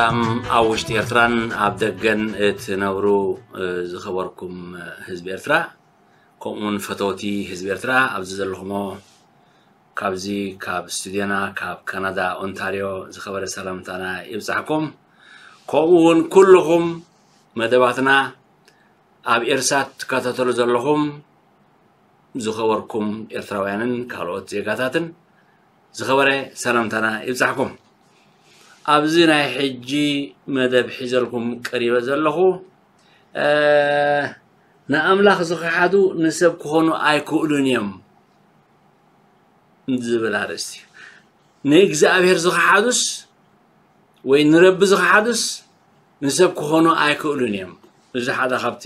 ኣብ ውሽጢ ኤርትራን ኣብ ደገን እትነብሩ ዝኸበርኩም ህዝቢ ኤርትራ፣ ከምኡውን ፈተውቲ ህዝቢ ኤርትራ ኣብዚ ዘለኹሞ፣ ካብዚ ካብ ስቱድዮና ካብ ካናዳ ኦንታርዮ ዝኸበረ ሰላምታና ይብጻሕኩም። ከምኡውን ኩልኹም መደባትና ኣብ ኤርሳት ትከታተሉ ዘለኹም ዝኸበርኩም ኤርትራውያንን ካልኦት ዜጋታትን ዝኸበረ ሰላምታና ይብጻሕኩም። ኣብዚ ናይ ሕጂ መደብ ሒዘልኩም ቀሪበ ዘለኹ፣ ንኣምላኽ ዝኸሓዱ ንሰብ ክኾኑ ኣይክእሉን እዮም ዝብል ኣርእስቲ እዩ። ንእግዚኣብሔር ዝኸሓዱስ ወይ ንረቢ ዝኸሓዱስ ንሰብ ክኾኑ ኣይክእሉን እዮም። እዚ ሓደ ካብቲ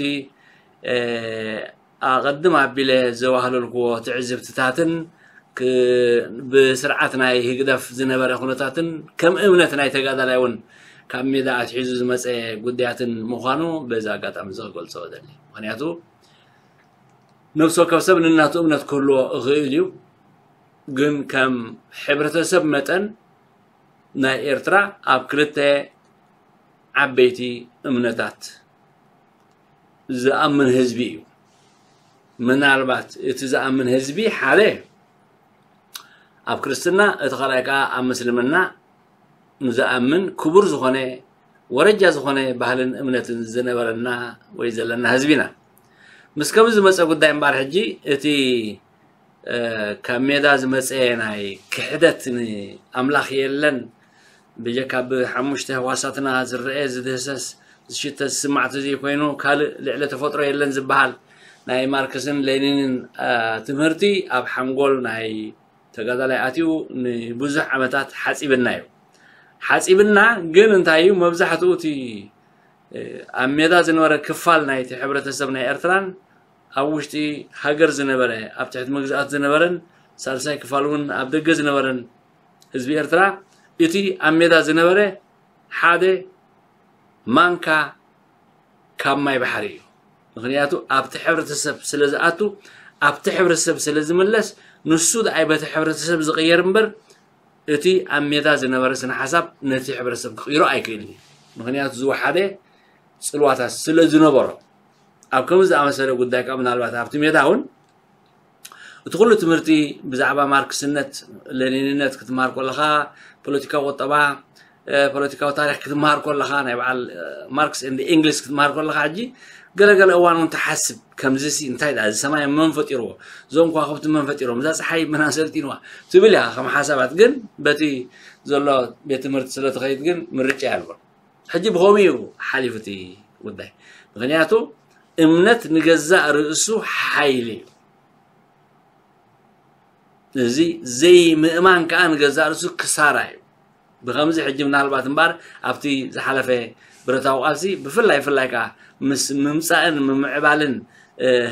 ኣቐድም ኣቢለ ዘዋህለልክዎ ትዕዝብትታትን ብስርዓት ናይ ህግደፍ ዝነበረ ኩነታትን ከም እምነት ናይ ተጋዳላይ እውን ካብ ሜዳ ኣትሒዙ ዝመፀ ጉዳያትን ምዃኑ በዚ ኣጋጣሚ እዚ ክገልፆ እደሊ። ምክንያቱ ነፍሲ ወከፍ ሰብ ንናቱ እምነት ክህልዎ ይኽእል እዩ። ግን ከም ሕብረተሰብ መጠን ናይ ኤርትራ ኣብ ክልተ ዓበይቲ እምነታት ዝኣምን ህዝቢ እዩ። ምናልባት እቲ ዝኣምን ህዝቢ ሓደ ኣብ ክርስትና፣ እቲ ካልኣይ ከዓ ኣብ ምስልምና ንዝኣምን ክቡር ዝኾነ ወረጃ ዝኾነ ባህልን እምነትን ዝነበረና ወይ ዘለና ህዝቢ ኢና። ምስ ከምዚ ዝመፀ ጉዳይ እምበኣር ሕጂ እቲ ካብ ሜዳ ዝመፀ ናይ ክሕደት ንኣምላኽ የለን፣ ብጀካ ብሓሙሽተ ህዋሳትና ዝረአ ዝድህሰስ ዝሽተ ዝስማዕ ተዘይኮይኑ ካልእ ልዕሊ ተፈጥሮ የለን ዝበሃል ናይ ማርክስን ሌኒንን ትምህርቲ ኣብ ሓንጎል ናይ ተጋዳላይ ኣትዩ ንብዙሕ ዓመታት ሓፂብና እዩ። ሓፂብና ግን እንታይ እዩ፣ መብዛሕትኡ እቲ ኣብ ሜዳ ዝነበረ ክፋል ናይቲ ሕብረተሰብ ናይ ኤርትራን ኣብ ውሽጢ ሃገር ዝነበረ ኣብ ትሕቲ መግዛእት ዝነበረን ሳልሳይ ክፋል እውን ኣብ ደገ ዝነበረን ህዝቢ ኤርትራ እቲ ኣብ ሜዳ ዝነበረ ሓደ ማንካ ካብ ማይ ባሕሪ እዩ። ምክንያቱ ኣብቲ ሕብረተሰብ ስለ ዝኣቱ ኣብቲ ሕብረተሰብ ስለ ዝምለስ ንሱ ደኣይ በቲ ሕብረተሰብ ዝቕየር እምበር እቲ ኣብ ሜዳ ዝነበረ ስነ ሓሳብ ነቲ ሕብረተሰብ ክቕይሮ ኣይክእልን እዩ። ምክንያቱ ዝወሓደ ፅልዋታት ስለ ዝነበሮ ኣብ ከምዚ ዝኣመሰለ ጉዳይ ከዓ ምናልባት ኣብቲ ሜዳ እውን እቲ ኩሉ ትምህርቲ ብዛዕባ ማርክስነት ሌኒንነት ክትመሃር ከለኻ ፖለቲካዊ ቁጠባ ፖለቲካዊ ታሪክ ክትመሃር ከለኻ ናይ በዓል ማርክስ ኤንድ ኤንግልስ ክትመሃር ከለኻ ሕጂ ገለገለ እዋን እውን ትሓስብ ከምዚ ሲ እንታይ ዳ እዚ ሰማይ መን ፈጢርዎ እዞም ከዋክብቲ መን ፈጢሮም እዛ ፀሓይ መን ኣሰልጢንዋ ትብል ኢኻ ከም ሓሳባት ግን በቲ ዘሎ ቤት ትምህርቲ ስለ ትኸይድ ግን ምርጫ ያልቦን ሕጂ ብኸምኡ እዩ ሓሊፉ እቲ ጉዳይ ምክንያቱ እምነት ንገዛእ ርእሱ ሓይሊ እዩ እዚ ዘይምእማን ከዓ ንገዛእ ርእሱ ክሳራ እዩ ብከምዚ ሕጂ ምናልባት እምበኣር ኣብቲ ዝሓለፈ ብረታዊ ቃልሲ ብፍላይ ፍላይ ከዓ ምስ ምምፃእን ምምዕባልን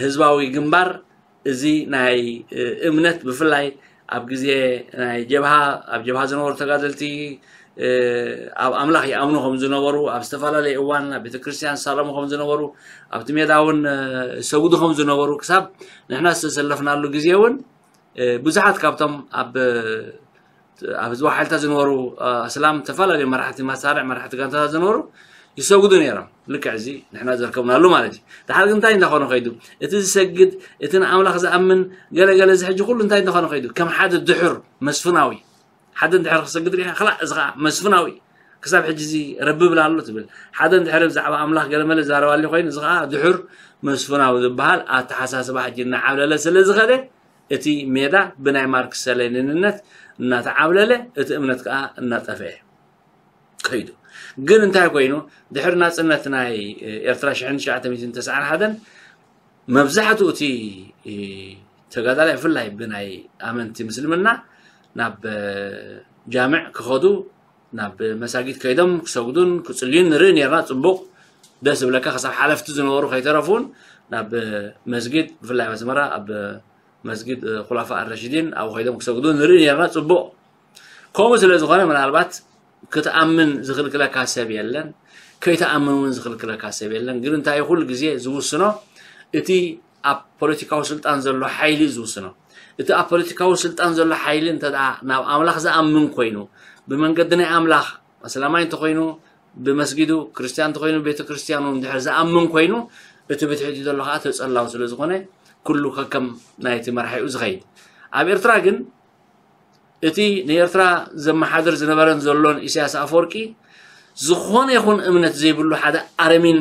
ህዝባዊ ግንባር እዚ ናይ እምነት ብፍላይ ኣብ ግዜ ናይ ጀብሃ ኣብ ጀብሃ ዝነበሩ ተጋደልቲ ኣብ ኣምላኽ ይኣምኑ ከም ዝነበሩ ኣብ ዝተፈላለየ እዋን ኣብ ቤተክርስትያን ሳለሙ ከም ዝነበሩ ኣብቲ ሜዳ እውን ሰጉዱ ከም ዝነበሩ ክሳብ ንሕና ዝተሰለፍናሉ ግዜ እውን ብዙሓት ካብቶም ኣብ ኣብ ህዝባዊ ሓይልታት ዝነበሩ ኣስላም ዝተፈላለዩ መራሕቲ መሳርዕ መራሕቲ ጋንታታት ዝነበሩ ይሰጉዱ ነይሮም ልክዕ እዚ ንሕና ዘርከብናሉ ማለት እዩ ድሓር ግን እንታይ እንዳኾነ ከይዱ እቲ ዝሰግድ እቲ ንኣምላኽ ዝኣምን ገለገለ እዚ ሕጂ ኩሉ እንታይ እንዳኾነ ከይዱ ከም ሓደ ድሑር መስፍናዊ ሓደ እንድሕር ክሰግድ ሪኢኻ ክላእ እዚ ከዓ መስፍናዊ ክሳብ ሕጂ እዚ ረቢ ብላ ኣሎ ትብል ሓደ እንድሕር ብዛዕባ ኣምላኽ ገለመለ ዝዛረባሉ ኮይኑ እዚ ከዓ ድሑር መስፍናዊ ዝበሃል ኣተሓሳስባ ሕጂ እናዓብለለ ስለ ዝኸደ እቲ ሜዳ ብናይ ማርክስ ሌኒንነት እናተዓብለለ እቲ እምነት ከዓ እናጠፍአ ከይዱ ግን እንታይ ኮይኑ ድሕሪ ናፅነት ናይ ኤርትራ ሽሕን ትሽዓተ ሚእትን ተስዓን ሓደን መብዛሕትኡ እቲ ተጋዳላይ ብፍላይ ብናይ ኣመንቲ ምስልምና ናብ ጃምዕ ክኸዱ ናብ መሳጊድ ከይዶም ክሰግዱን ክፅልዩን ንርኢ ነርና ፅቡቕ ደስ ዝብለካ ክሳብ ሓለፍቲ ዝነበሩ ከይተረፉን ናብ መስጊድ ብፍላይ ኣብ ኣስመራ ኣብ መስጊድ ኩላፋ ኣረሽዲን ኣብ ከይዶም ክሰግዱ ንርኢ ነርና ፅቡቕ ከምኡ ስለ ዝኾነ ምናልባት ክትኣምን ዝኽልክለካ ሰብ የለን ከይተኣምን እውን ዝኽልክለካ ሰብ የለን ግን እንታይ ኩሉ ግዜ ዝውስኖ እቲ ኣብ ፖለቲካዊ ስልጣን ዘሎ ሓይሊ እዩ ዝውስኖ እቲ ኣብ ፖለቲካዊ ስልጣን ዘሎ ሓይሊ እንተ ናብ ኣምላኽ ዝኣምን ኮይኑ ብመንገዲ ናይ ኣምላኽ ኣስላማይ እንተኮይኑ ብመስጊዱ ክርስትያን እንተኾይኑ፣ ቤተ ክርስትያኑ እንድሕር ዝኣምን ኮይኑ፣ እቲ ብትሕቲ ዘሎ ከዓ ተጸላው ስለ ዝኾነ፣ ኩሉ ከከም ናይቲ መራሒኡ ዝኸይድ። ኣብ ኤርትራ ግን እቲ ንኤርትራ ዘመሓድር ዝነበረን ዘሎን ኢሳያስ ኣፈወርቂ፣ ዝኾነ ይኹን እምነት ዘይብሉ ሓደ ኣረሚን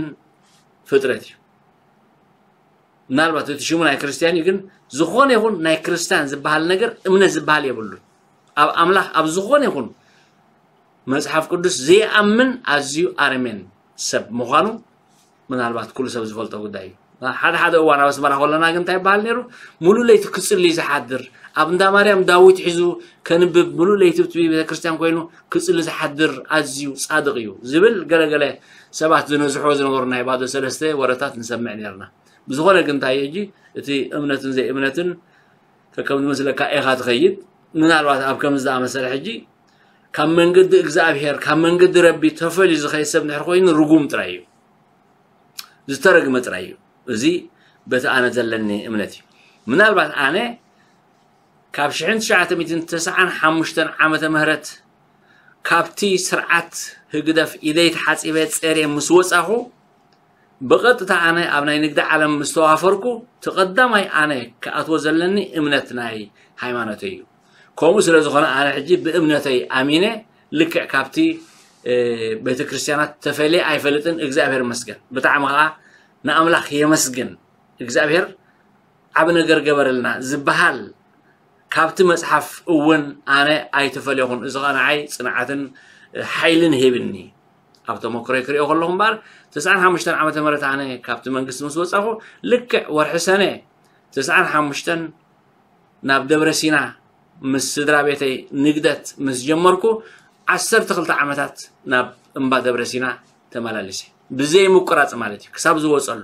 ፍጥረት እዩ። ምናልባት እቲ ሽሙ ናይ ክርስትያን እዩ፣ ግን ዝኾነ ይኹን ናይ ክርስትያን ዝበሃል ነገር፣ እምነት ዝበሃል የብሉን። ኣብ ኣምላኽ፣ ኣብ ዝኾነ ይኹን መጽሓፍ ቅዱስ ዘይኣምን ኣዝዩ ኣረሜን ሰብ ምዃኑ ምናልባት ኩሉ ሰብ ዝፈልጦ ጉዳይ እዩ። ሓደ ሓደ እዋን ኣብ ኣስመራ ከለና ግን እንታይ ይበሃል ነይሩ? ሙሉእ ለይቲ ክጽሊ ዝሓድር፣ ኣብ እንዳ ማርያም ዳዊት ሒዙ ከንብብ፣ ሙሉእ ለይቲ እቲ ቤተክርስትያን ኮይኑ ክጽሊ ዝሓድር ኣዝዩ ጻድቕ እዩ ዝብል ገለገለ ሰባት ዝነዝሖ ዝነበሩ ናይ ባዶ ሰለስተ ወረታት ንሰምዕ ነርና። ብዝኾነ ግን እንታይ እዩ ሕጂ እቲ እምነትን ዘይእምነትን ከከም ዝመስለካ ኢኻ ትኸይድ። ምናልባት ኣብ ከምዚ ዝኣመሰለ ሕጂ ካብ መንገዲ እግዚኣብሔር፣ ካብ መንገዲ ረቢ ተፈልዩ ዝኸይድ ሰብ እንድሕር ኮይኑ ርጉም ጥራይ እዩ፣ ዝተረግመ ጥራይ እዩ። እዚ በቲ ኣነ ዘለኒ እምነት እዩ። ምናልባት ኣነ ካብ ሽሕን ትሽዓተ ሚእትን ተስዓን ሓሙሽተን ዓመተ ምህረት ካብቲ ስርዓት ህግደፍ ኢደይ ተሓጺበ ጸርየ ምስ ወጻኹ፣ ብቐጥታ ኣነ ኣብ ናይ ንግዲ ዓለም ምስ ተዋፈርኩ፣ እቲ ቀዳማይ ኣነ ክኣትዎ ዘለኒ እምነት ናይ ሃይማኖተይ እዩ። ከምኡ ስለ ዝኾነ ኣነ ሕጂ ብእምነተይ ኣሚነ ልክዕ ካብቲ፣ እ፣ ቤተክርስትያናት ተፈልየ ኣይፈልጥን። እግዚኣብሔር ይመስገን። ብጣዕሚ ኸዓ ንኣምላኽ የመስግን። እግዚኣብሔር ዓቢ ነገር ገበረልና ዝበሃል ካብቲ መጽሓፍ እውን ኣነ ኣይተፈለኹን። እዚ ኸዓ ንዓይ ጽንዓትን ሓይልን ሂብኒ። ኣብ ተመክሮይ ክሪኦ ከለኹ እምበኣር፣ ተስዓን ሓሙሽተን ዓመተ ምህረት ኣነ ካብቲ መንግስቲ ምስ ወጻኹ፣ ልክዕ ወርሒ ሰነ ተስዓን ሓሙሽተን ናብ ደብረ ሲና ምስ ስድራ ቤተይ ንግደት ምስ ጀመርኩ፣ ዓሰርተ ክልተ ዓመታት ናብ እምባ ደብረ ሲና ተመላሊሰ። ብዘይ ምቁራጽ ማለት እዩ፣ ክሳብ ዝወጸሉ።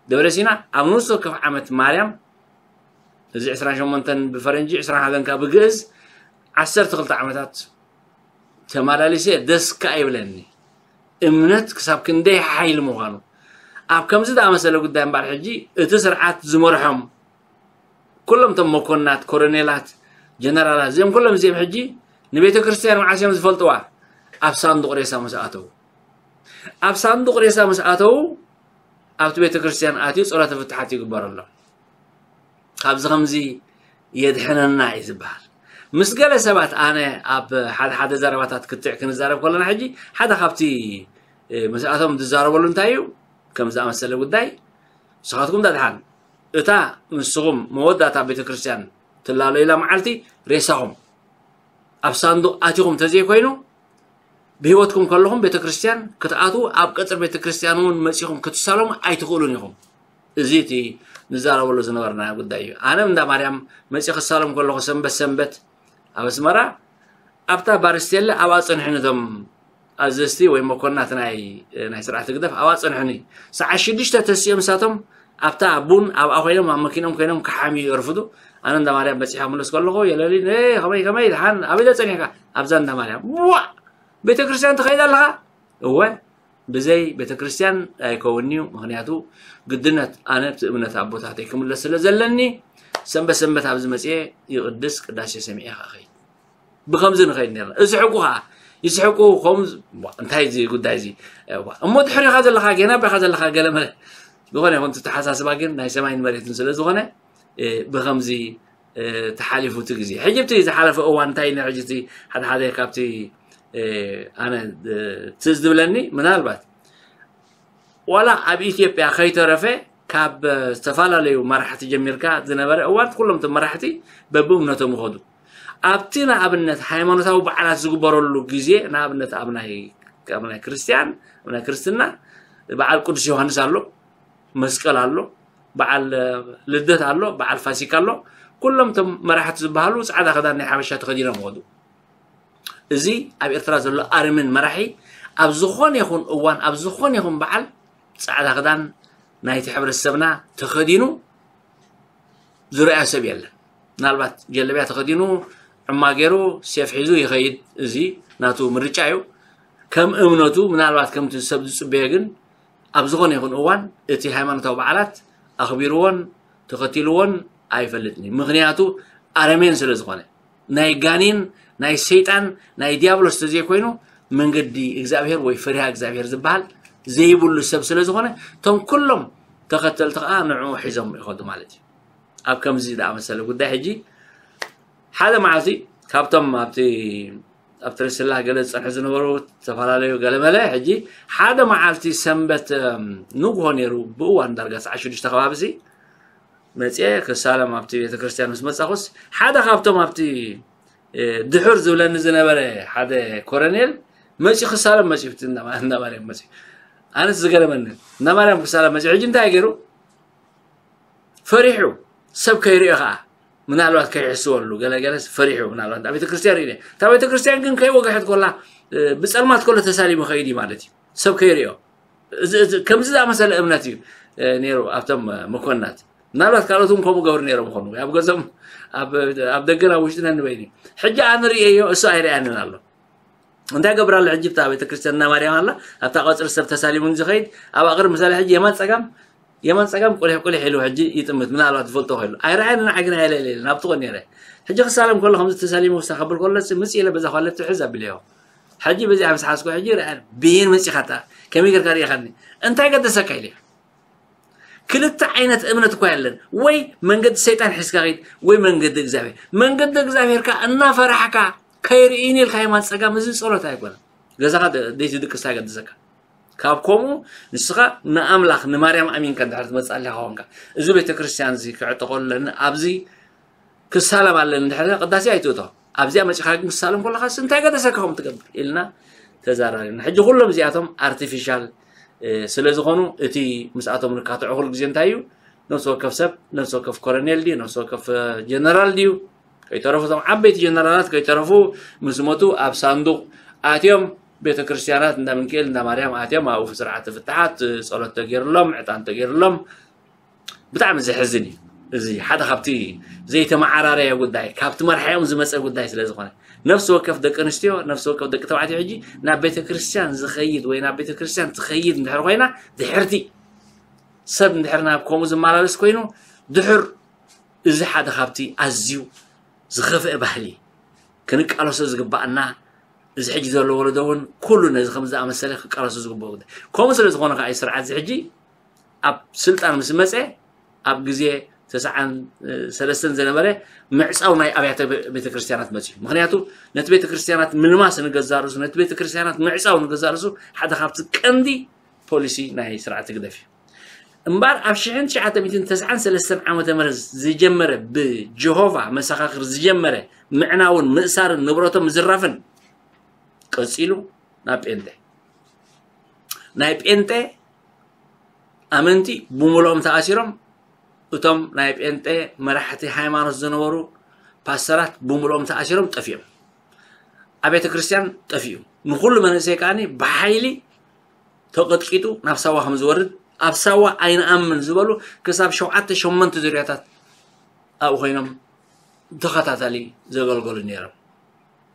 ደብረ ሲና ኣብ ንኡስ ወከፍ ዓመት ማርያም፣ እዚ ዕስራን ሸሞንተን ብፈረንጂ፣ ዕስራን ሓደን ከኣ ብግእዝ፣ ዓሰርተ ክልተ ዓመታት ተመላሊሰ። ደስ ከኣ ይብለኒ። እምነት ክሳብ ክንደይ ሓይሊ ምዃኑ። ኣብ ከምዚ ዝኣመሰለ ጉዳይ እምበኣር ሕጂ እቲ ስርዓት ዝመርሖም ኩሎም እቶም መኮንናት፣ ኮሎኔላት፣ ጀነራላት፣ እዚኦም ኩሎም እዚኦም ሕጂ ንቤተ ክርስትያን መዓስ እዮም ዝፈልጥዋ? ኣብ ሳንዱቕ ሬሳ ምስ ኣተዉ። ኣብ ሳንዱቕ ሬሳ ምስ ኣተዉ፣ ኣብቲ ቤተ ክርስትያን ኣትዩ ጸሎተ ፍትሓት ይግበረሎም። ካብዚ ከምዚ የድሕነና እዩ ዝበሃል። ምስ ገለ ሰባት ኣነ ኣብ ሓደ ሓደ ዘረባታት ክትዕ ክንዛረብ ከለና ሕጂ፣ ሓደ ካብቲ፣ እ፣ ምስኣቶም ዝዛረበሉ እንታይ እዩ? ከም ዝኣመሰለ ጉዳይ፣ ንስኻትኩም ዳድሓን እታ ንስኹም መወዳእታ ቤተ ክርስትያን ትላለዩላ መዓልቲ ሬሳኹም ኣብ ሳንዱቕ ኣቲኹም ተዘይኮይኑ፣ ብህይወትኩም ከለኹም ቤተ ክርስትያን ክትኣትዉ፣ ኣብ ቀጽሪ ቤተ ክርስትያን እውን መጺኹም ክትሳለሙ ኣይትኽእሉን ኢኹም። እዚ እቲ ንዛረበሉ ዝነበርና ጉዳይ እዩ። ኣነ እንዳ ማርያም መጺ ክሳለም ከለኹ ሰንበት ሰንበት ኣብ ኣስመራ፣ ኣብታ ባር ስቴለ ኣብኣ ጸንሑኒ እቶም ኣዘዝቲ ወይ መኮንናት ናይ፣ ናይ ስርዓት ህግደፍ ኣብኣ ጸንሑኒ። ሰዓት ሽዱሽተ ተሲኦም ንሳቶም ኣብታ ቡን ኣብኣ ኮይኖም ኣብ መኪኖም ኮይኖም ክሓምዩ የርፍዱ። ኣነ እንዳ ማርያም በጺሐ ክምለስ ከለኹ የለሊ፣ "ኤ፣ ከመይ፣ ከመይ፣ ደሓን፣ ኣበይ ዶ ጸኒሕካ?" "ኣብዛ እንዳ ማርያም." "ዋእ! ቤተ ክርስትያን ትኸይድ ኣለኻ?" "እወ፣ ብዘይ ቤተ ክርስትያን ኣይከውን'ዩ፣ ምኽንያቱ ግድነት ኣነ ብቲ እምነት ኣቦታተይ ክምለስ ስለ ዘለኒ፣ ሰንበት ሰንበት ኣብዚ መጽየ ይቕድስ፣ ቅዳሴ ሰሚዐ ከኣ እኸይድ።" ብኸምዚ ንኸይድ ነርና። እስሕቁ ኸዓ፣ ይስሕቁ፣ ከምዚ፣ ዋ፣ እንታይ እዚ ጉዳይ እዚ? ዋ፣ እሞ ድሕሪኻ ዘለኻ፣ ጌና ኣባኻ ዘለኻ፣ ገለ መለ። ዝኾነ ይኹን፣ እቲ ተሓሳስባ ግን ናይ ሰማይን መሬትን ስለ ዝኾነ፣ እ፣ ብኸምዚ፣ እ፣ ተሓሊፉ እቲ ግዜ። ሕጂ እቲ ዝሓለፈ እዋን እንታይ ነይሩ? ሕጂ እቲ ሓደ ሓደ ካብቲ፣ እ፣ ኣነ፣ እ፣ ትዝ ዝብለኒ፣ ምናልባት ዋላ ኣብ ኢትዮጵያ ከይተረፈ ካብ ዝተፈላለዩ መራሕቲ ጀሚርካ ዝነበረ እዋን፣ ኩሎም እቶም መራሕቲ በብእምነቶም ይኸዱ። ኣብቲ ንኣብነት ሃይማኖታዊ በዓላት ዝግበረሉ ግዜ፣ ንኣብነት ኣብ ናይ፣ ኣብ ናይ ክርስትያን፣ ኣብ ናይ ክርስትና በዓል ቅዱስ ዮሃንስ ኣሎ፣ መስቀል ኣሎ፣ በዓል ልደት ኣሎ፣ በዓል ፋሲካ ኣሎ። ኩሎም እቶም መራሕቲ ዝበሃሉ ጻዕዳ ክዳን ናይ ሓበሻ ተኸዲኖም ይኸዱ። እዚ ኣብ ኤርትራ ዘሎ ኣረሜን መራሒ ኣብ ዝኾነ ይኹን እዋን፣ ኣብ ዝኾነ ይኹን በዓል ጻዕዳ ክዳን ናይቲ ሕብረተሰብና ተኸዲኑ ዝረኣዮ ሰብ የለን። ምናልባት ጀለብያ ተኸዲኑ፣ ዕማ ገይሩ፣ ሴፍ ሒዙ ይኸይድ። እዚ ናቱ ምርጫ እዩ። ከም እምነቱ፣ ምናልባት ከምቲ ሰብ ዝጽበዮ ግን፣ ኣብ ዝኾነ ይኹን እዋን እቲ ሃይማኖታዊ በዓላት ኣኽቢርዎን ተኸቲልዎን ኣይፈልጥን እዩ። ምኽንያቱ ኣረሜን ስለ ዝኾነ፣ ናይ ጋኔን፣ ናይ ሰይጣን፣ ናይ ዲያብሎስ ተዘይኮይኑ መንገዲ እግዚኣብሔር ወይ ፈሪሃ እግዚኣብሔር ዝበሃል ዘይብሉ ሰብ ስለ ዝኾነ፣ እቶም ኩሎም ተኸተልቲ ከዓ ንዕኡ ሒዞም ይኸዱ ማለት እዩ። ኣብ ከምዚ ዝኣመሰለ ጉዳይ ሕጂ ሓደ መዓልቲ ካብቶም ኣብቲ ኣብ ትርስላ ገለ ዝጸንሑ ዝነበሩ ዝተፈላለዩ ገለመለ፣ ሕጂ ሓደ መዓልቲ ሰንበት፣ እም፣ ንግሆ ነይሩ፣ ብእዋን ዳርጋ ሰዓት ሽዱሽተ ከባቢ ሲ መጽየ ክሳለም ኣብቲ ቤተክርስትያን ምስ መጻኹስ፣ ሓደ ካብቶም ኣብቲ፣ እ፣ ድሑር ዝብለኒ ዝነበረ ሓደ ኮረኔል መጺኡ ክሳለም መጺኡ፣ እቲ እንዳ ማ-፣ እንዳ ማርያም መጺኡ። ኣነስ ዝገረመኒ፣ እንዳ ማርያም ክሳለም መጺኡ። ሕጂ እንታይ ገይሩ? ፈሪሑ፣ ሰብ ከይርእዮ ኸዓ፣ ምናልባት ከይሕስወሉ፣ ገለ ገለስ ፈሪሑ፣ ምናልባት ኣብ ቤተክርስትያን ርእዩ። እታ ቤተክርስትያን ግን ከይወግሐት ኮላ፣ እ፣ ብጸልማት ኮሎ ተሳሊሙ ኸይድ እዩ ማለት እዩ። ሰብ ከይርእዮ። እዚ፣ እዚ፣ ከምዚ ዝኣመሰለ እምነት እዩ፣ እ፣ ነይሩ ኣብቶም፣ እ፣ መኮንናት። ምናልባት ካልኦት እውን ከምኡ ገብሩ ነይሮም ይኾኑ። ኣብ ገዞም፣ ኣብ፣ ኣብ ደገን ኣብ ውሽጥን ነንበይኑ። ሕጂ ኣነ ርእየዮ፣ እሱ ኣይርእያንን ኣሎ። እንታይ ገብር ኣሎ? ሕጂ እታ ቤተክርስትያን እንዳ ማርያም ኣላ፣ ኣብታ ቀጽሪ ሰብ ተሳሊሙ ዝኸይድ፣ ኣብ ኣቕርብ ምሳሌ ሕጂ የማን ጸጋም፣ የማን ጸጋም ቁሊሕ ቁሊሕ ኢሉ ሕጂ ይጥምት፣ ምናልባት ዝፈልጦ ኮይኑ። ኣይረኣየን፣ ንዓይ ግን ኣይለለየን፣ ኣብቲ ኾን ነይረ። ሕጂ ክሳለም ከሎ ከምዚ ተሳሊሙ ክሳብ ከብል ከሎ፣ ምጽእ ኢለ በዛ ኳለት ትሕዝ ኣቢለዮ። ሕጂ በዚኣ ምስ ሓዝኩ፣ ሕጂ ረኣየን፣ ብይን መጺኻታ፣ ከመይ ጌርካ ርኢኻኒ? እንታይ ገደሰካ ኢለ። ክልተ ዓይነት እምነት እኳ የለን። ወይ መንገዲ ሰይጣን ሒዝካ ኸይድ፣ ወይ መንገዲ እግዚኣብሔር። መንገዲ እግዚኣብሔር ከኣ እናፈራሕካ ከይርእይን ኢልካ የማን ጸጋም፣ እዚ ጸሎት ኣይኮነን። ገዛኻ ደ-፣ ደይትድቅስ እንታይ ገድሰካ? ካብ ከምኡ ንስኻ ንኣምላኽ፣ ንማርያም ኣሚንካ እንድሕር ትመጽእ ኣለኻ ኾንካ፣ እዚ ቤተክርስትያን እዚ ክዕጠቐሉ ኣለኒ፣ ኣብዚ ክሳለም ኣለኒ እንድሕር ኢልካ ቅዳሴ ኣይትእቶ። ኣብዚኣ መጺኻ ግን ክሳለም ከለኻስ እንታይ ገደሰካ ከምኡ ትገብር? ኢልና ተዛራሪብና። ሕጂ ኩሎም እዚኣቶም ኣርቲፊሻል፣ እ፣ ስለ ዝኾኑ እቲ ምስኣቶም ንካትዖ ኩሉ ግዜ እንታይ እዩ? ነፍሲ ወከፍ ሰብ፣ ነፍሲ ወከፍ ኮረኔል ድዩ? ነፍሲ ወከፍ፣ እ፣ ጀነራል ድዩ? ከይተረፉ እቶም ዓበይቲ ጀነራላት ከይተረፉ ምስ ሞቱ ኣብ ሳንዱቕ ኣትዮም ቤተ ክርስቲያናት እንዳ ምንክኤል እንዳ ማርያም ኣትዮም ኣብኡ ስርዓተ ፍትሓት፣ እ፣ ጸሎት ተገይርሎም፣ ዕጣን ተገይርሎም። ብጣዕሚ ዘሕዝን እዩ። እዚ ሓደ ካብቲ ዘይተመዓራረየ ጉዳይ፣ ካብቲ መርሓኦም ዝመጸ ጉዳይ ስለ ዝኾነ፣ ነፍሲ ወከፍ ደቂ ኣንስትዮ፣ ነፍሲ ወከፍ ደቂ ተባዕትዮ ሕጂ ናብ ቤተ ክርስቲያን ዝኸይድ ወይ ናብ ቤተ ክርስቲያን ትኸይድ እንድሕር ኮይና፣ ድሕርቲ ሰብ እንድሕር ናብ ከምኡ ዝመላለስ ኮይኑ፣ ድሑር፣ እዚ ሓደ ካብቲ ኣዝዩ ዝኸፍአ ባህሊ ክንቃለሶ ዝግባኣና፣ እዚ ሕጂ ዘሎ ወለዶ እውን ኩሉ ነዚ ከም ዝኣመሰለ ክቃለሶ ዝግብኦ ጉዳይ። ከምኡ ስለ ዝኾነ ከኣ እዩ ስርዓት እዚ ሕጂ ኣብ ስልጣን ምስ መጸ፣ ኣብ ግዜ ተስዓን ሰለስተን ዝነበረ ምዕጻው ናይ ኣብያተ ቤ-፣ ቤተክርስትያናት መጺኡ። ምኽንያቱ ነቲ ቤተክርስትያናት ምልማስ ንገዛእ ርእሱ፣ ነቲ ቤተክርስትያናት ምዕጻው ንገዛእ ርእሱ ሓደ ካብቲ ቀንዲ ፖሊሲ ናይ ስርዓት ህግደፍ እዩ። እምበኣር ኣብ ሽሕን ትሽዓተ ሚእትን ተስዓን ሰለስተን ዓመተ ምህረት ዝጀመረ፣ ብጀሆቫ መሰኻኽር ዝጀመረ ምዕናውን ምእሳርን ንብረቶም ምዝራፍን ቀጺሉ ናብ ጴንጤ። ናይ ጴንጤ ኣመንቲ ብምልኦም ተኣሲሮም፣ እቶም ናይ ጴንጤ መራሕቲ ሃይማኖት ዝነበሩ ፓስተራት ብምልኦም ተኣሲሮም ጠፊኦም። ኣብ ቤተ ክርስቲያን ጠፊኡ። ንኹሉ መንእሰይ ከኣኒ ብሓይሊ ተቐጥቂጡ ናብ ሳዋ ከም ዝወርድ፣ ኣብ ሳዋ ኣይንኣምን ዝበሉ ክሳብ ሸውዓተ ሸሞንተ ዙርያታት ኣብኡ ኮይኖም ተኸታታሊ ዘገልገሉ ነይሮም።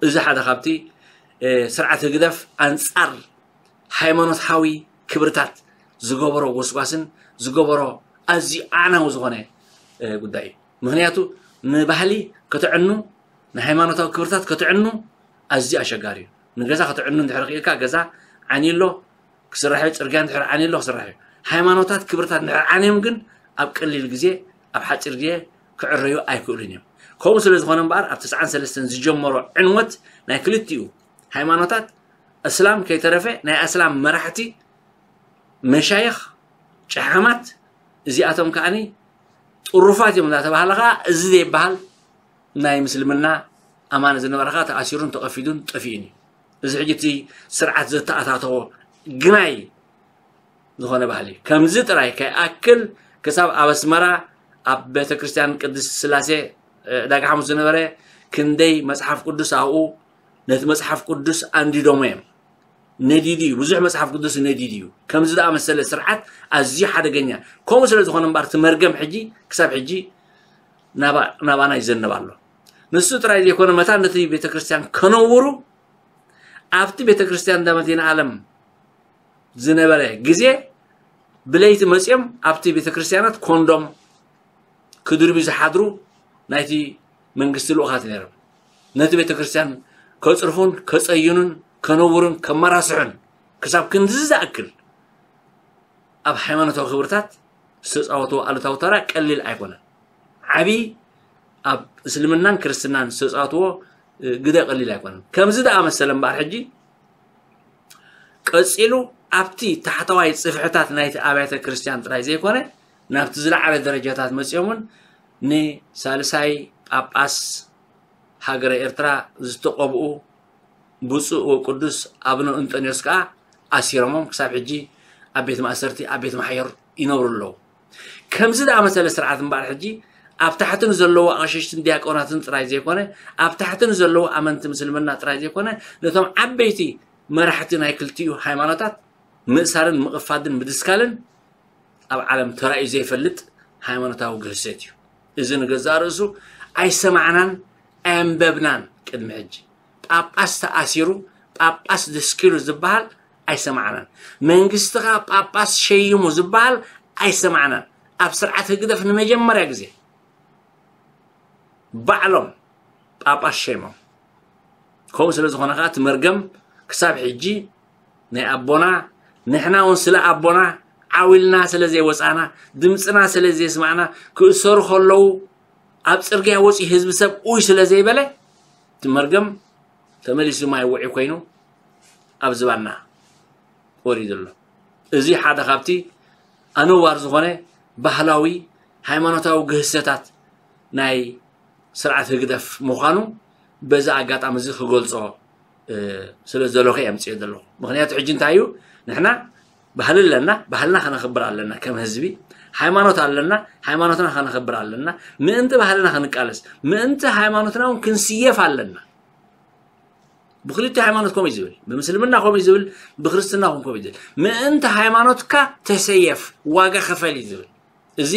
እዚ ሓደ ካብቲ፣ እ፣ ስርዓት ህግደፍ ኣንጻር ሃይማኖታዊ ክብርታት ዝገበሮ ጎስጓስን ዝገበሮ ኣዝዩ ኣዕናዊ ዝኾነ፣ እ፣ ጉዳይ እዩ። ምኽንያቱ ንባህሊ ከተዕኑ፣ ንሃይማኖታዊ ክብርታት ከተዕኑ ኣዝዩ ኣሸጋሪ እዩ። ንገዛ ከተዕኑ እንድሕር ክኢልካ ገዛ ዓንዩ ኣሎ ክስራሕ እዩ፣ ጽርግያ እንድሕር ዓንዩ ኣሎ ክስራሕ እዩ። ሃይማኖታት ክብርታት እንድሕር ዓንዮም ግን ኣብ ቀሊል ግዜ፣ ኣብ ሓጺር ግዜ ክዕረዩ ኣይክእሉን እዮም። ከምኡ ስለ ዝኾነ እምበኣር ኣብ ተስዓን ሰለስተን ዝጀመሮ ዕንወት ናይ ክልቲኡ ሃይማኖታት፣ እስላም ከይተረፈ ናይ ኣስላም መራሕቲ፣ መሻይኽ፣ ጨሓማት፣ እዚኣቶም ከኣኒ ጥሩፋት እዮም እናተባህለ ከኣ እዚ ዘይበሃል ናይ ምስልምና ኣማኒ ዝነበረ ከኣ ተኣሲሩን ተቐፊዱን ጠፊኡን እዩ። እዚ ሕጂ እቲ ስርዓት ዘተኣታተዎ ግናይ ዝኾነ ባህሊ እዩ። ከምዚ ጥራይ ከይኣክል ክሳብ ኣብ ኣስመራ ኣብ ቤተ ክርስቲያን ቅድስት ስላሴ፣ እ፣ ዕዳጋ ሓሙስ ዝነበረ ክንደይ መጽሓፍ ቅዱስ ኣብኡ ነቲ መጽሓፍ ቅዱስ ኣንዲዶሞ እዮም። ነዲዱ እዩ፣ ብዙሕ መጽሓፍ ቅዱስ ነዲዱ እዩ። ከምዚ ዝኣመሰለ ስርዓት ኣዝዩ ሓደገኛ። ከምኡ ስለ ዝኾነ እምበኣር እቲ መርገም ሕጂ ክሳብ ሕጂ ናባ-፣ ናባና ይዘንብ ኣሎ። ንሱ ጥራይ ዘይኮነ መታን ነቲ ቤተ ክርስቲያን ከነውሩ ኣብቲ ቤተ ክርስቲያን እንዳ መድኃኔ ዓለም ዝነበረ ግዜ ብለይቲ መጺኦም ኣብቲ ቤተ ክርስቲያናት ኮንዶም ክድርብዩ ዝሓድሩ ናይቲ መንግስቲ ልኡኻት ነይሮም። ነቲ ቤተ ክርስቲያን ከጽርፉን ከጸይኑን ከነውርን ከመራስሑን ክሳብ ክንድዚ ዝኣክል ኣብ ሃይማኖታዊ ክብርታት ዝተፃወትዎ ኣሉታዊ ተራ ቀሊል ኣይኮነን። ዓብዪ ኣብ እስልምናን ክርስትናን ዝተፃወትዎ ግደ ቀሊል ኣይኮነን። ከምዚ ዝኣመሰለ እምበኣር ሕጂ ቀፂሉ ኣብቲ ታሕተዋይ ፅፍሕታት ናይቲ ኣብያተ ክርስቲያን ጥራይ ዘይኮነ ናብቲ ዝለዓለ ደረጃታት መፂኦም እውን ንሳልሳይ ጳጳስ ሃገረ ኤርትራ ዝተቐብኡ ብፁዕ ወቅዱስ ኣቡነ እንጠንዮስ ከኣ ኣሲሮሞም ክሳብ ሕጂ ኣብ ቤት ማእሰርቲ ኣብ ቤት ማሕየር ይነብሩ ኣለዉ። ከምዚ ዝኣመሰለ ስርዓት እምበኣር ሕጂ ኣብ ታሕቲ ንዘለዉ ኣቕሽሽትን ዲያቆናትን ጥራይ ዘይኮነ ኣብ ታሕቲ ንዘለዉ ኣመንቲ ምስልምና ጥራይ ዘይኮነ ነቶም ዓበይቲ መራሕቲ ናይ ክልቲኡ ሃይማኖታት ምእሳርን ምቕፋድን ምድስካልን ኣብ ዓለም ተራእዩ ዘይፈልጥ ሃይማኖታዊ ግህሰት እዩ። እዚ ንገዛእ ርእሱ ኣይሰማዕናን ኣየንበብናን ቅድሚ ሕጂ። ጳጳስ ተኣሲሩ፣ ጳጳስ ደስኪሉ ዝበሃል ኣይሰማዕናን። መንግስቲ ከኣ ጳጳስ ሸይሙ ዝበሃል ኣይሰማዕናን። ኣብ ስርዓት ህግደፍ ንመጀመርያ ግዜ ባዕሎም ጳጳስ ሸይሞም። ከምኡ ስለ ዝኾነ ከኣ እቲ መርገም ክሳብ ሕጂ ናይ ኣቦና ንሕና እውን ስለ ኣቦና ዓው ኢልና ስለ ዘይወፃና ድምፅና ስለ ዘየስማዕና ክእሰሩ ከለዉ ኣብ ፅርግያ ወፂኡ ህዝቢ ሰብ ኡይ ስለ ዘይበለ እቲ መርገም ተመሊሱ ማይ ውዒ ኮይኑ ኣብ ዝባና ወሪዱ ኣሎ። እዚ ሓደ ካብቲ ኣነዋር ዝኾነ ባህላዊ ሃይማኖታዊ ግህሰታት ናይ ስርዓት ህግደፍ ምዃኑ በዚ ኣጋጣሚ እዚ ክገልጾ ስለ ዝደለኹ እየ ኣምፅኦ ዘለኹ። ምክንያቱ ሕጂ እንታይ እዩ ንሕና ባህሊ ኣለና፣ ባህልና ከነኽብር ኣለና። ከም ህዝቢ ሃይማኖት ኣለና፣ ሃይማኖትና ከነኽብር ኣለና። ምእንቲ ባህልና ክንቃለስ፣ ምእንቲ ሃይማኖትና እውን ክንስየፍ ኣለና። ብክልቲኡ ሃይማኖት ከምኡ እዩ ዝብል፣ ብምስልምና ከምኡ እዩ ዝብል፣ ብክርስትና እውን ከምኡ እዩ ዝብል። ምእንቲ ሃይማኖትካ ተሰየፍ፣ ዋጋ ክፈል እዩ ዝብል። እዚ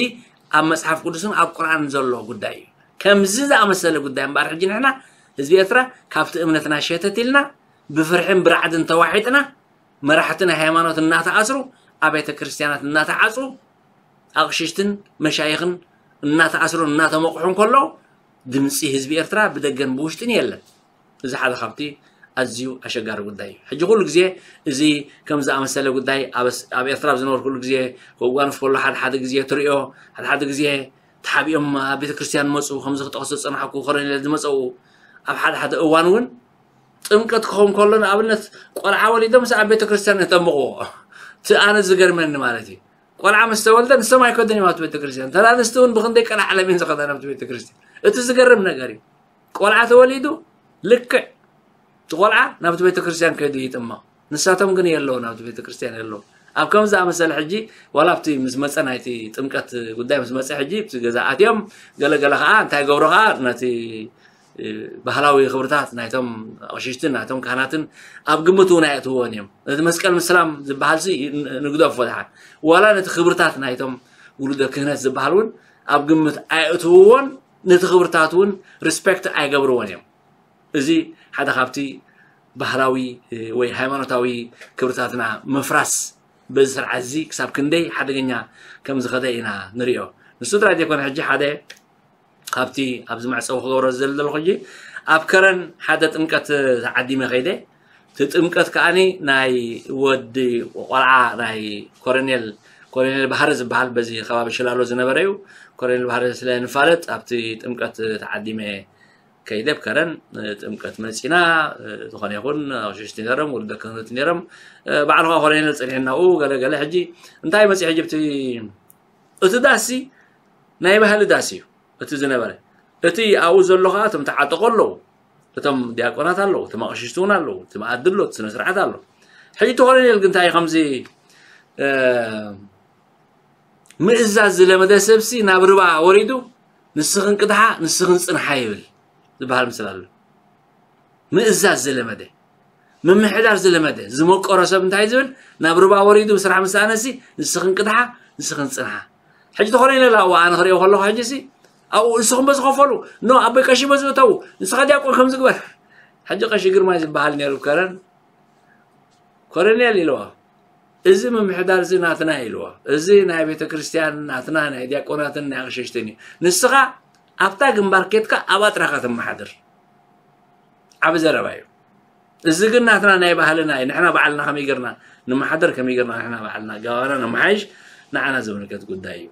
ኣብ መፅሓፍ ቅዱስን ኣብ ቁርኣንን ዘሎ ጉዳይ እዩ። ከምዚ ዝኣመሰለ ጉዳይ እምበኣር ሕጂ ንሕና ህዝቢ ኤርትራ ካብቲ እምነትና ሸተት ኢልና ብፍርሕን ብራዕድን ተዋሒጥና መራሕቲ ናይ ሃይማኖት እናተኣስሩ ኣብያተ ክርስትያናት እናተዓፁ ኣቕሽሽትን መሻይኽን እናተኣስሩን እናተመቑሑን ከለዉ ድምፂ ህዝቢ ኤርትራ ብደገን ብውሽጥን የለን። እዚ ሓደ ካብቲ ኣዝዩ ኣሸጋሪ ጉዳይ እዩ። ሕጂ ኩሉ ግዜ እዚ ከም ዝኣመሰለ ጉዳይ ኣብ ኣብ ኤርትራ ኣብ ዝነበርኩሉ ግዜ ክጓንፍ ከሎ ሓደ ሓደ ግዜ ትሪኦ፣ ሓደ ሓደ ግዜ ተሓቢኦም ኣብ ቤተ ክርስቲያን መፁ፣ ከምዚ ክጠቕሶ ዝፀናሕኩ ኮረኔል ዝመፀኡ ኣብ ሓደ ሓደ እዋን እውን ጥምቀት ክኸውን ከሎ ንኣብነት ቆልዓ ወሊዶም ምስ ኣብ ቤተ ክርስቲያን የጠምቕዎ። እቲ ኣነ ዝገርመኒ ማለት እዩ ቆልዓ ምስ ተወልደ ንሶም ኣይከዱን እዮም ኣብቲ ቤተ ክርስቲያን። ተራ ኣንስቲ እውን ብክንደይ ቀላዓለም እየን ዝኸዳ ናብቲ ቤተ ክርስቲያን። እቲ ዝገርም ነገር እዩ። ቆልዓ ተወሊዱ ልክዕ እቲ ቆልዓ ናብቲ ቤተ ክርስቲያን ከይዱ ይጥመቕ። ንሳቶም ግን የለውን ኣብቲ ቤተ ክርስቲያን የለውን። ኣብ ከም ዝኣመሰለ ሕጂ ዋላ ኣብቲ ምስ መፀ ናይቲ ጥምቀት ጉዳይ ምስ መፀ ሕጂ ኣብቲ ገዛ ኣትዮም ገለገለ ከዓ እንታይ ገብሩ ከዓ ነቲ ባህላዊ ክብርታት ናይቶም ኣቕሽሽትን ናይቶም ካህናትን ኣብ ግምት እውን ኣየእትውዎን እዮም። ነቲ መስቀል ምስላም ዝበሃል ሲ ንግደፎ ድሓን ዋላ ነቲ ክብርታት ናይቶም ውሉደ ክህነት ዝበሃል እውን ኣብ ግምት ኣየእትውዎን ነቲ ክብርታት እውን ሪስፔክት ኣይገብርዎን እዮም። እዚ ሓደ ካብቲ ባህላዊ ወይ ሃይማኖታዊ ክብርታትና ምፍራስ በዚ ስርዓት እዚ ክሳብ ክንደይ ሓደገኛ ከም ዝኸደ ኢና ንሪኦ። ንሱ ጥራይ ዘይኮነ ሕጂ ሓደ ካብቲ ኣብዚ መዕፀዊ ክገብሮ ዝደሊ ዘለኹ ሕጂ ኣብ ከረን ሓደ ጥምቀት ተዓዲመ ከይደ እቲ ጥምቀት ከዓኒ ናይ ወዲ ቆልዓ ናይ ኮረኔል ኮረኔል ባህሪ ዝበሃል በዚ ከባቢ ሽላሎ ዝነበረ እዩ። ኮረኔል ባህሪ ስለ ንፋለጥ ኣብቲ ጥምቀት ተዓዲመ ከይደ ኣብ ከረን ጥምቀት መፂና ዝኾነ ይኹን ኣቕሽሽቲ ነይሮም ውልደ ክህነት ነይሮም ባዕልኻ ኮረኔል ፀኒሕናኡ ገለ ገለ ሕጂ እንታይ መፂ ሕጂ እቲ ዳሲ ናይ ባህሊ ዳስ እዩ እቲ ዝነበረ። እቲ ኣብኡ ዘሎ ከዓ እቶም ተዓጠቑ ኣለዉ፣ እቶም ዲያቆናት ኣለዉ፣ እቶም ኣቕሽሽቲ እውን ኣለዉ፣ እቲ መኣዲ ኣሎ፣ እቲ ስነ ስርዓት ኣሎ። ሕጂ እቲ ኮሎኔል ግን እንታይ እዩ ከምዚ ምእዛዝ ዝለመደ ሰብሲ ናብ ርባ ወሪዱ ንስኽን ቅድሓ ንስኽን ፅንሓ ይብል ዝበሃል ምስል ኣሎ። ምእዛዝ ዝለመደ ምምሕዳር ዝለመደ ዝመቀሮ ሰብ እንታይ ዝብል ናብ ርባ ወሪዱ ብስራሕ ምስ ኣነሲ ንስኽን ቅድሓ ንስኽን ፅንሓ። ሕጂ ተኾነ ኢለ ኣብኡ ኣነ ክሪኦ ከለኹ ሕጂ ሲ ኣብኡ ንስኹም በዚ ከፈሉ ኖ ኣቦይ ቀሺ በዚ እተዉ ንስኻ ዲያቆን ከም ዝግበር። ሕጂ ቀሺ ግርማይ ዝበሃል ነይሩ ከረን ኮረኔል ኢልዋ። እዚ ምምሕዳር እዚ ናትና ኢልዋ። እዚ ናይ ቤተ ክርስቲያን ናትና ናይ ዲያቆናትን ናይ ኣቕሽሽትን እዩ። ንስኻ ኣብታ ግንባር ኬድካ ኣብኣ ጥራኻ ትመሓድር። ዓቢ ዘረባ እዩ። እዚ ግን ናትና ናይ ባህልና እዩ። ንሕና ባዕልና ከመይ ጌርና ንመሓደር፣ ከመይ ጌርና ንሕና ባዕልና ገባና ነመሓይሽ፣ ንዓና ዝምልከት ጉዳይ እዩ።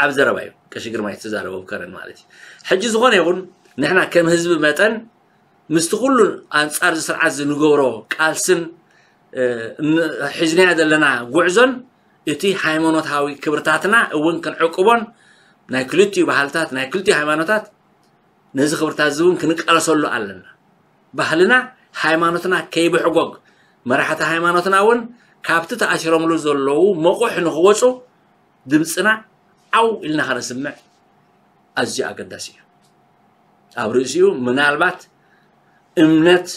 ኣብ ዘረባ እዩ ቀሺ ግርማይ ዝተዛረቦ ከረን ማለት እዩ። ሕጂ ዝኾነ ይኹን ንሕና ከም ህዝቢ መጠን ምስቲ ኩሉ ኣንጻር እዚ ስርዓት ዝንገብሮ ቃልስን እ፣ ን- ሒዝናዮ ዘለና ጉዕዞን እቲ ሃይማኖታዊ ክብርታትና እውን ክንዕቅቦን ናይ ክልቲኡ ባህልታት ናይ ክልቲኡ ሃይማኖታት ነዚ ክብርታት እዚ እውን ክንቃለሰሉ ኣለና። ባህልና ሃይማኖትና ከይብሕጎግ መራሕቲ ሃይማኖትና እውን ካብቲ ተኣሲሮምሉ ዘለዉ መቑሕ ንክወፁ ድምፅና ዓው ኢልና ከነስምዕ ኣዝዩ ኣገዳሲ እዩ። ኣብ ርእሲኡ ምናልባት እምነት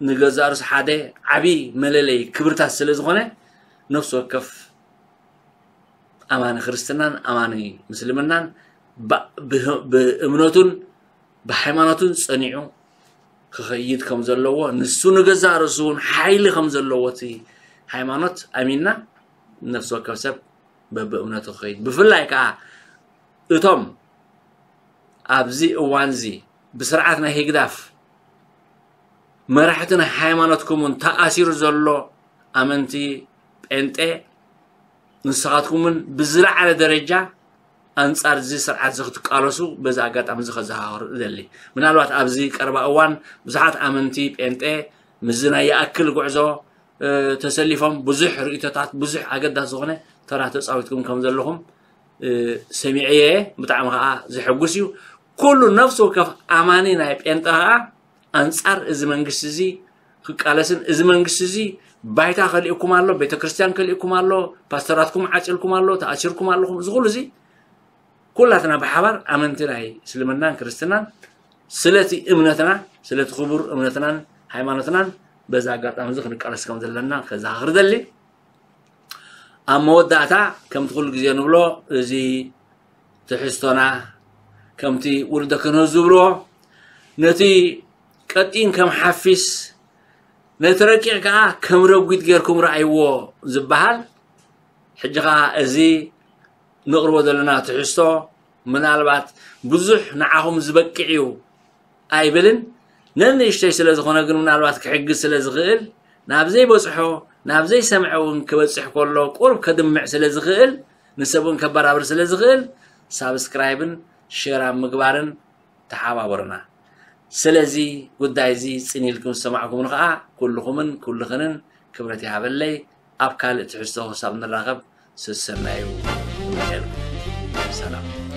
ንገዛእ ርእሱ ሓደ ዓቢ መለለይ ክብርታት ስለ ዝኾነ ነፍሲ ወከፍ ኣማኒ ክርስትናን ኣማኒ ምስልምናን ባ- ብህ- ብእምነቱን ብሃይማኖቱን ጸኒዑ ክኸይድ ከም ዘለዎ ንሱ ንገዛእ ርእሱ እውን ሓይሊ ከም ዘለዎ እቲ ሃይማኖት ኣሚንና ነፍሲ ወከፍ ሰብ በብእምነቱ ክኸይድ ብፍላይ ከዓ እቶም ኣብዚ እዋንዚ ብስርዓት ናይ ህግዳፍ መራሕቲ ናይ ሃይማኖትኩምን ተኣሲሩ ዘሎ ኣመንቲ ጴንጤ ንስኻትኩምን ብዝለዓለ ደረጃ ኣንጻር እዚ ስርዓት እዚ ክትቃለሱ በዚ ኣጋጣሚ እዚ ከዘኻኽር እደሊ። ምናልባት ኣብዚ ቀረባ እዋን ብዙሓት ኣመንቲ ጴንጤ ምስዚ ናይ ይኣክል ጉዕዞ ተሰሊፎም ብዙሕ ርእቶታት ብዙሕ ኣገዳሲ ዝኾነ ተራ ተፃዊትኩም ከም ዘለኹም ሰሚዐየ። ብጣዕሚ ከዓ ዘሐጉስ እዩ። ኩሉ ነፍሲ ወከፍ ኣማኒ ናይ ጴንጠ ከዓ ኣንፃር እዚ መንግስቲ እዚ ክቃለስን እዚ መንግስቲ እዚ ባይታ ከሊእኩም ኣሎ፣ ቤተክርስትያን ከሊእኩም ኣሎ፣ ፓስተራትኩም ዓፂልኩም ኣሎ፣ ተኣሲርኩም ኣለኹም። እዚ ኩሉ እዚ ኩላትና ብሓባር ኣመንቲ ናይ እስልምናን ክርስትናን ስለቲ እምነትና ስለቲ ክቡር እምነትናን ሃይማኖትናን በዚ ኣጋጣሚ እዚ ክንቃለስ ከም ዘለና ከዘኻኽር ደሊ። ኣብ መወዳእታ ከምቲ ኩሉ ግዜ ንብሎ እዚ ትሕዝቶና ከምቲ ውልደ ክህነት ዝብልዎ ነቲ ቀጢን ከም ሓፊስ ነቲ ረቂቕ ከዓ ከም ረጒድ ጌርኩም ረኣይዎ ዝበሃል ሕጂ ከዓ እዚ ንቕርቦ ዘለና ትሕዝቶ ምናልባት ብዙሕ ንዓኹም ዝበቅዕ እዩ ኣይብልን። ነንእሽተይ ስለ ዝኾነ ግን ምናልባት ክሕግዝ ስለ ዝኽእል ናብ ዘይበፅሖ ናብ ዘይሰምዐ እውን ክበፅሕ ከሎ ቁርብ ከድምዕ ስለ ዝኽእል ንሰብ እውን ከበራብር ስለ ዝኽእል ሳብስክራይብን ሼር ኣብ ምግባርን ተሓባበሩና። ስለዚ ጉዳይ እዚ ፅን ኢልኩም ዝሰማዕኩምኒ ከዓ ኩልኹምን ኩልኽንን ክብረት ይሃበለይ። ኣብ ካልእ ትሕዝቶ ክሳብ ንራኸብ ሰሰናዩ። ሰላም።